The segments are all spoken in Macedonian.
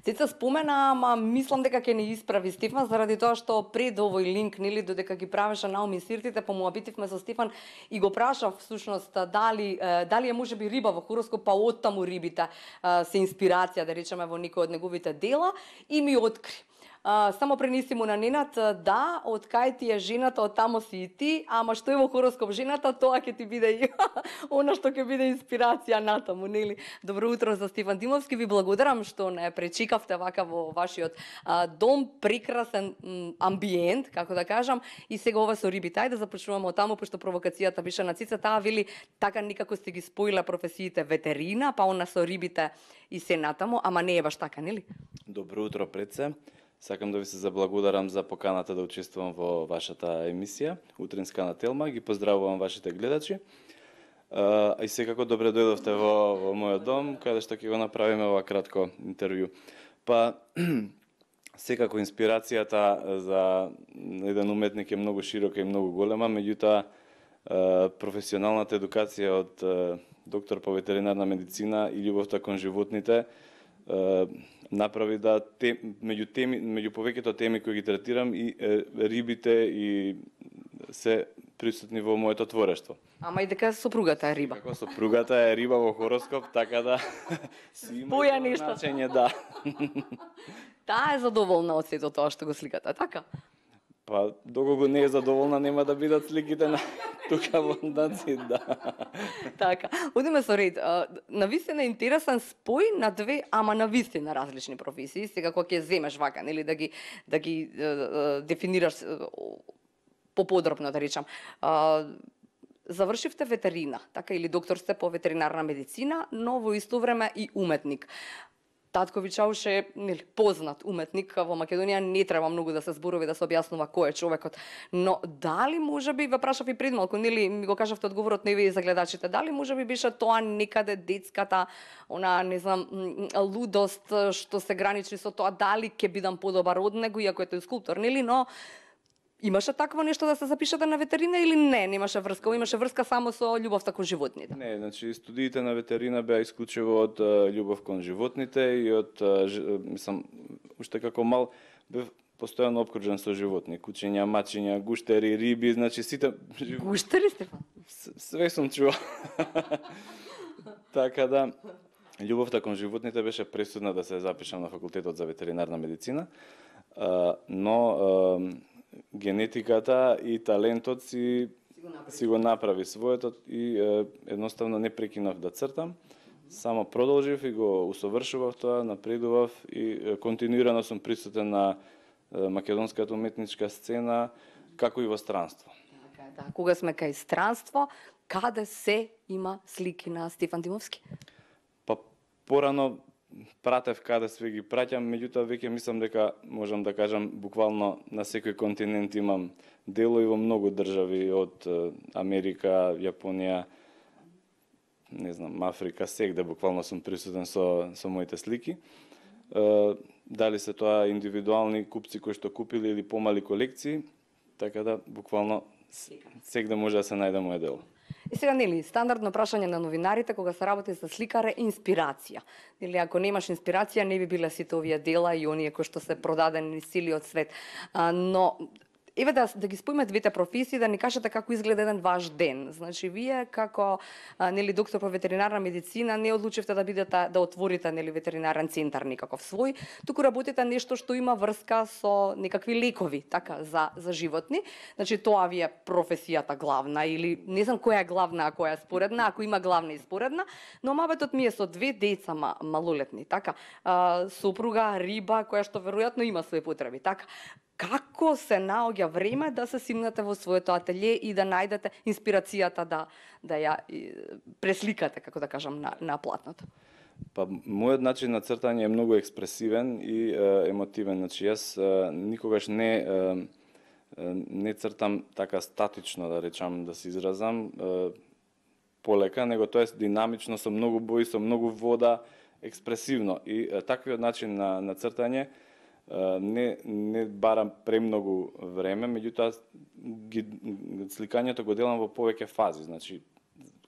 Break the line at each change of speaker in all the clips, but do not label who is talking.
Деца спомена, ама мислам дека ќе ни исправи Стефан заради тоа што пред овој линк, нели, додека ги правеше Наоми Сиртите, помуабитивме со Стефан и го прашав всушност дали е можеби риба во хороскоп, па оттаму рибите се инспирација, да речеме, во некој од неговите дела и ми откри. Само пренеси му на Ненад, да, од кај ти е жената, од тамо си и ти, ама што е во хороскоп жената, тоа ќе ти биде и она што ќе биде инспирација натаму, нели? Добро утро за Стефан Димовски, ви благодарам што не пречекавте вака во вашиот дом, прекрасен амбиент, како да кажам, и сега ова со рибите. Ајде да започнуваме од таму, пошто провокацијата беше на Цица, таа вели така некако сте ги споила професиите ветерина, па она со рибите и се натаму, ама не е баш така, нели?
Добро утро пред се. Сакам да ви се заблагодарам за поканата да учествувам во вашата емисија, Утринска на Телма. Ги поздравувам вашите гледачи. И секако добре дојдовте во мојот дом, каде што ќе го направиме ова кратко интервју. Па, секако инспирацијата за еден уметник е многу широка и многу голема, меѓутоа професионалната едукација од доктор по ветеринарна медицина и љубовта кон животните направи да меѓу повеќето теми кои ги третирам и рибите и се присутни во моето творештво.
Ама и дека сопругата е риба.
Како сопругата е риба во хороскоп, така да си има значење, да.
Таа е задоволна од сето тоа што го сликате, така?
Па, доколку не е задоволна, нема да бидат сликите на тука во Даци, да.
Така, одиме со ред. Навистина интересен спој на две, ама навистина различни професии. Сега кога ќе земеш вака, нели, да ги дефинираш поподробно, да речам. Завршивте ветерина, така, или доктор сте по ветеринарна медицина, но во исто време и уметник. Татко Чауш е познат уметник во Македонија, не треба многу да се зборови да се објаснува кој е човекот. Но дали можеби, ве прашав и пред малку, нели ми го кажавте одговорот не ви за гледачите, дали можеби беше тоа некаде детската, она не знам, лудост што се граничи со тоа дали ќе бидам подобар од него, иако е тој скулптор, нели, но имаше такво нешто да се запишете на ветерина или не? Немаше врска, имаше врска само со љубовта кон животните?
Не, значи студиите на ветерина беа исклучиво од љубов кон животните и од, мислам, уште како мал бев постојано опкружен со животни, кучиња, мачиња, гуштери, риби, значи сите...
Гуштери, Стефан?
Све сум чуo. Така да, љубовта кон животните беше пресудна да се запишам на факултетот за ветеринарна медицина, но генетиката и талентот си го направи своето и едноставно не прекинав да цртам, само продолжив и го усовршував тоа, напредував и континуирано сум присутен на македонската уметничка сцена, како и во странство.
Да, кога сме кај странство, каде се има слики на Стефан Димовски?
Па порано пратев каде све ги праќам, меѓутоа веќе мислам дека можам да кажам буквално на секој континент имам дело и во многу држави од Америка, Јапонија, не знам, Африка, сегде буквално сум присутен со моите слики. Дали се тоа индивидуални купци кои што купили или помали колекции, така да буквално сегде може да се најде моје дело.
И сега, нели, стандардно прашање на новинарите кога се работи со сликар е инспирација. Нели, ако немаш инспирација, не би биле сите овие дела и оние кои што се продадени целиот свет. Но еве да ги споиме двете професии, да ни кажете како изгледа еден ваш ден. Значи, вие како нели доктор по ветеринарна медицина не одлучивте да бидете да отворите нели ветеринарен центар некаков свој, туку работите нешто што има врска со некакви лекови, така за животни. Значи, тоа ви е професијата главна или не знам која е главна, а која е споредна, ако има главна и споредна, но мабетот ми е со две деца малолетни, така. Сопруга, риба, која што веројатно има своји потреби, така. Како се наоѓа време да се симнете во своето ателје и да најдете инспирацијата да ја пресликате, како да кажам, на платното?
Па, мојот начин на цртање е многу експресивен и емотивен. Значи, јас никогаш не цртам така статично, да речам, да се изразам, полека, него тоа е динамично, со многу бои, со многу вода, експресивно. И таквиот начин на цртање не барам премногу време, меѓутоа сликањето го делам во повеќе фази. Значи,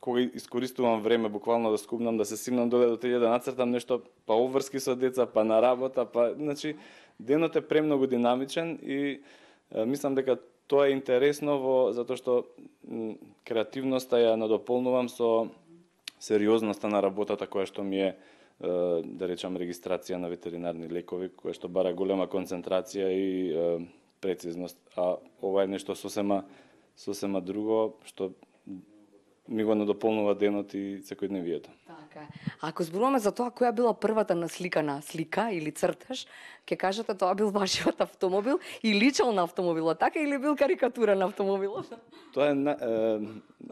кога искористувам време буквално да скубнам, да се симнам доле до теле, да нацртам нешто, па обврски со деца, па на работа, па значи денот е премногу динамичен и мислам дека тоа е интересно затоа што креативноста ја надополнувам со сериозноста на работата која што ми е, да речам, регистрација на ветеринарни лекови, која што бара голема концентрација и прецизност, а ова е нешто сосема друго што ми го надополнува денот и секојдневието.
Така е. Ако зборуваме за тоа која била првата насликана слика или цртеж, ќе кажете тоа бил вашиот автомобил и личел на автомобилот, така или бил карикатура на автомобилот?
Тоа е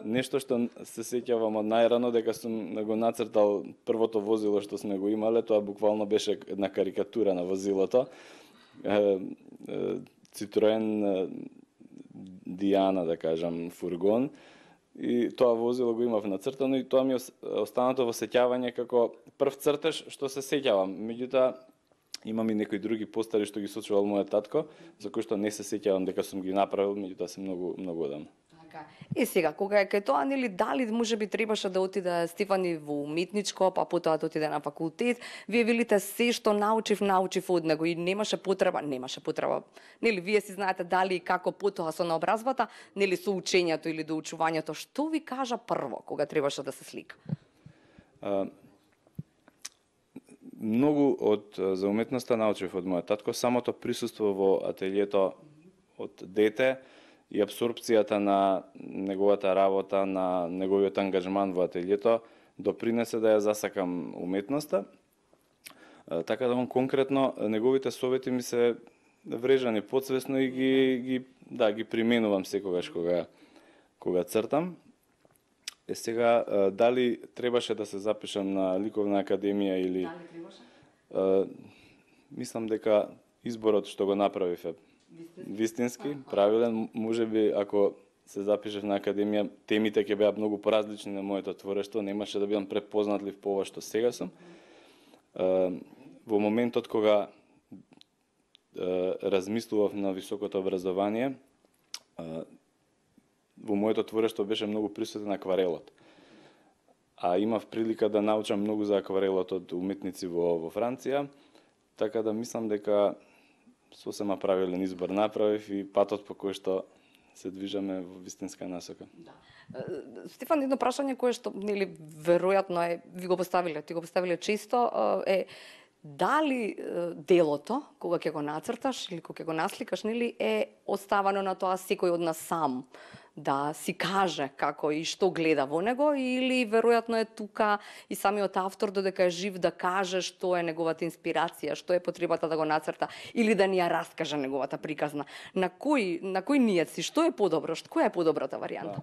нешто што се сеќавам од најрано, дека сум го нацртал првото возило што сме го имале, тоа буквално беше една карикатура на возилото. Citroen Диана, да кажам, фургон. И тоа возило го имав нацртано и тоа ми останато во сеќавање како прв цртеж што се сеќавам. Меѓутоа, имам и некои други постари што ги сочувал мојот татко, за кои што не се сеќавам дека сум ги направил, меѓутоа се многу одамна.
Така. И сега, кога е кај тоа, нели, дали можеби требаше да отиде Стефани во уметничко, па потоа да отиде на факултет, вие велите се што научив од него и немаше потреба. Нели, вие си знаете дали и како потоа со наобразбата, нели, со учењето или доучувањето, што ви кажа прво кога требаше да се слика?
Многу за уметноста научив од мојот татко, самото присуство во ателието од дете и абсорбцијата на неговата работа, на неговиот ангажман во ателието допринесе да ја засакам уметноста. Така да конкретно неговите совети ми се врежани подсвесно и ги применувам секогаш кога цртам. Сега дали требаше да се запишам на ликовна академија или
Дали требаше?
Мислам дека изборот што го направив е вистински, правилен. Можеби ако се запишев на академија, темите ќе беа многу поразлични на моето творештво, немаше да бидам препознатлив по ова што сега сум. Во моментот кога размислував на високото образование, во моето творештво беше многу присутен акварелот. А имав прилика да научам многу за акварелот од уметници во Франција, така да мислам дека сосема правилен избор направив и патот по кој што се движаме во вистинска насока.
Да. Стефан, едно прашање кое што, нели, веројатно е, ви го поставиле, ти го поставиле често, е дали делото, кога ќе го нацрташ или кога ќе го насликаш, нели, е оставано на тоа секој од нас сам да си каже како и што гледа во него, или веројатно е тука и самиот автор додека е жив да каже што е неговата инспирација, што е потребата да го нацрта или да ни ја раскаже неговата приказна. На кој нијат си, што е подобро, која е подобрата варијанта?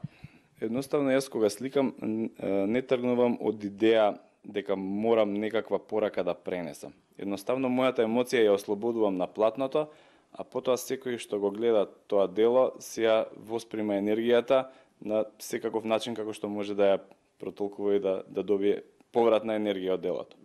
Едноставно јас кога сликам не тргнувам од идеја дека морам некаква порака да пренесам. Едноставно мојата емоција ја ослободувам на платното, а потоа секој што го гледа тоа дело си ја восприма енергијата на секаков начин како што може да ја протолкува и да добие повратна енергија од делото.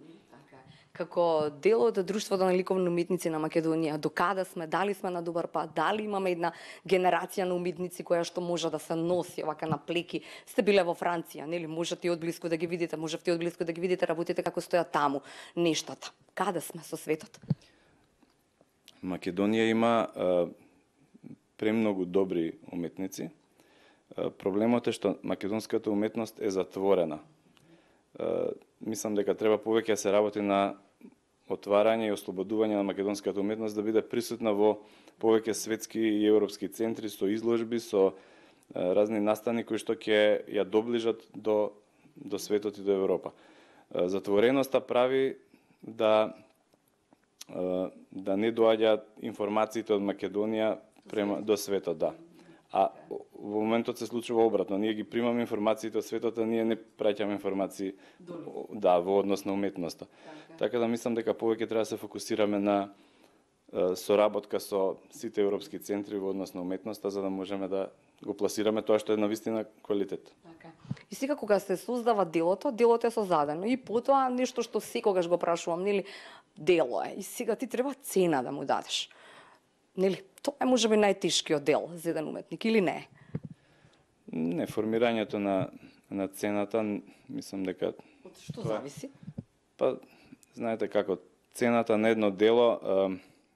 Како дел од Друштвото на ликовни уметници на Македонија, докаде сме, дали сме на добар пат, дали имаме една генерација на уметници која што може да се носи овака на плеки. Сте биле во Франција, нели? Можете и одблиску да ги видите, можете и одблиску да ги видите работите како стојат таму нештата. Каде сме со светот?
Македонија има премногу добри уметници. Проблемот е што македонската уметност е затворена. Мислам дека треба повеќе да се работи на отварање и ослободување на македонската уметност да биде присутна во повеќе светски и европски центри со изложби, со разни настани кои што ќе ја доближат до светот и до Европа. Затвореноста прави да не доаѓаат информациите од Македонија до светот, да. А во моментот се случува обратно. Ние ги примаме информациите од светот, а ние не праќаме информации во однос на уметноста. Така да мислам дека повеќе треба да се фокусираме на соработка со сите европски центри во однос на уметноста, за да можеме да го пласираме тоа што е на вистина квалитет.
И сега кога се создава делото е создадено и потоа нешто што секогаш го прашувам, нели, дело е. И сега ти треба цена да му дадеш. Нели, тоа е можеби најтешкиот дел за еден уметник или не?
Не, формирањето на на цената, мислам дека
Од што зависи?
па знаете како цената на едно дело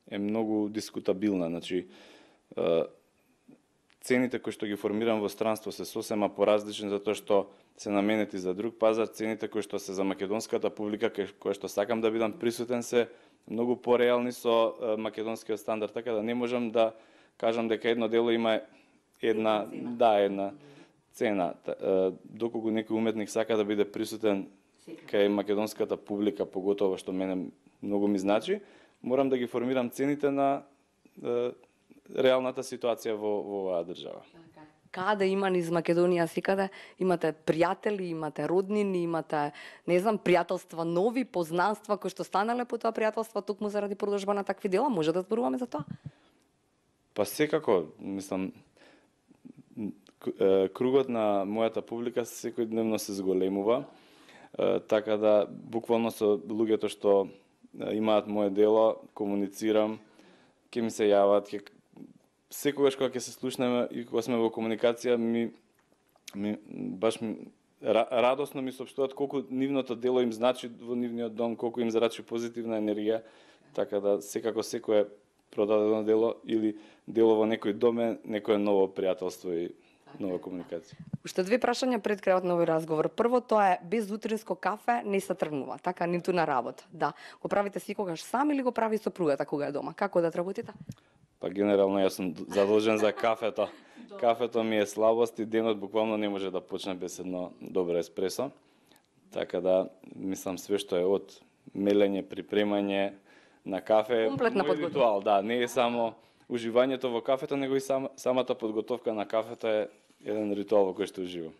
е многу дискутабилна, значи цените кои што ги формирам во странство се сосема поразлични затоа што се наменети за друг пазар, цените кои што се за македонската публика кои што сакам да бидам присутен се многу пореални со македонскиот стандард, така да не можам да кажам дека едно дело има една цена. Доколку некој уметник сака да биде присутен кај македонската публика, поготово што мене многу ми значи, морам да ги формирам цените на реалната ситуација во оваа држава.
Каде има низ Македонија секаде? Имате пријатели, имате роднини, имате, не знам, пријателства нови, познанства кои што станале по тоа пријателство токму заради продолжба на такви дела? Може да зборуваме за тоа?
Па секако, мислам, кругот на мојата публика секојдневно се зголемува, така да буквално со луѓето што имаат моје дело, комуницирам, ќе ми се јават, секогаш кога ќе се слушнеме и кога сме во комуникација, радосно ми соопштуваат колку нивното дело им значи во нивниот дом, колку им зарачи позитивна енергија, така да секако секое продадено дело или дело во некој дом е некое ново пријателство и нова комуникација.
Уште две прашања пред крајот на овој разговор. Прво, тоа е без утринско кафе не се тргнува, така ниту на работа. Да, го правите секогаш сам или го прави сопругата кога е дома? Како да работите?
Па генерално јас сум задолжен за кафето. Кафето ми е слабост и денот буквално не може да почне без едно добро еспресо. Така да мислам све што е од мелење, припремање на кафе,
комплетна подготовка.
Ритуал, да, не е само уживањето во кафето, него и самата подготовка на кафето е еден ритуал во кој што уживам.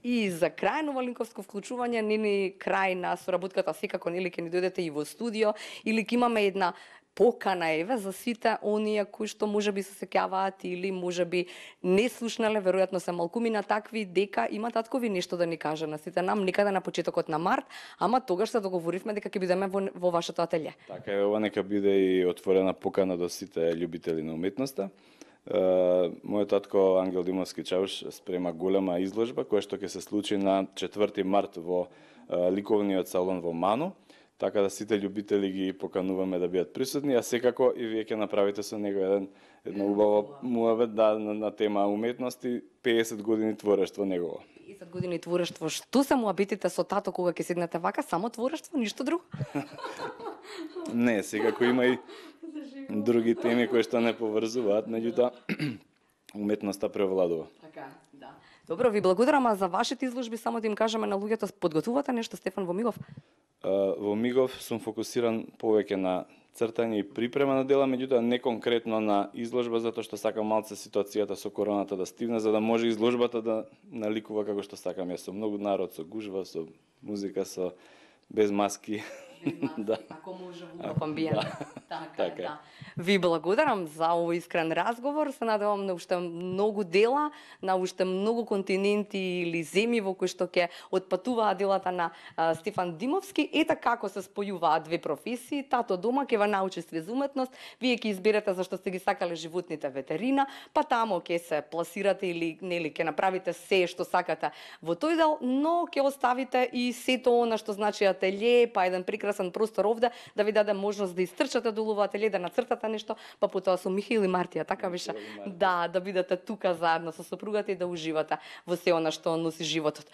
И за крај Новолинковско вклучување, нини крај на соработката секако нели ќе ни дојдете и во студио или ќе имаме една покана еве за сите оние кои што можеби се сеќаваат или можеби не слушнале, веројатно се малкумина такви, дека има таткови нешто да ни каже на сите нам никаде на почетокот на март, ама тогаш се договоривме дека ќе бидеме во вашето ателје.
Така е, ова нека биде и отворена покана до сите љубители на уметноста. Мојот татко Ангел Димовски Чауш спрема голема изложба која што ќе се случи на 4 март во ликовниот салон во Ману. Така да сите љубители ги покануваме да бидат присутни, а секако и вие ќе направите со него едно убаво муабет на тема уметности, 50 години творештво негово.
50 години творештво, што се муабетите со тато кога ќе седнете вака, само творештво, ништо друго?
Не, секако има и други теми кои што не поврзуваат, меѓутоа уметноста превладува.
Така, да. Добро, ви благодарам за вашите изложби, само да им кажеме на луѓето, подготвувате нешто, Стефан, во Мигов?
Во Мигов сум фокусиран повеќе на цртање и припрема на дела, меѓутоа не конкретно на изложба, затоа што сакам малце ситуацијата со короната да стивне, за да може изложбата да наликува како што сакам јас, со многу народ, со гужва, со музика, со без маски.
Да. Ако може во амбиент.
Така е.
Да. Ви благодарам за овој искрен разговор. Се надевам на уште многу дела, на уште многу континенти или земји во кои што ќе отпатуваат делата на Стефан Димовски. Ета како се спојуваат две професии. Тато дома ќе ва научи све за уметност, вие ќе изберете зашто сте ги сакале животните ветерина, па тамо ќе се пласирате или нели ќе направите се што сакате во тој дел, но ќе оставите и сето она што значи ателје, па еден прекрасен простор овде да ви даде можност да истрчате долу во ателје, да нацртате нешто, па потоа со Михаил и Мартија, така беше. Да бидете тука заедно со сопругата и да уживате во се она што носи животот.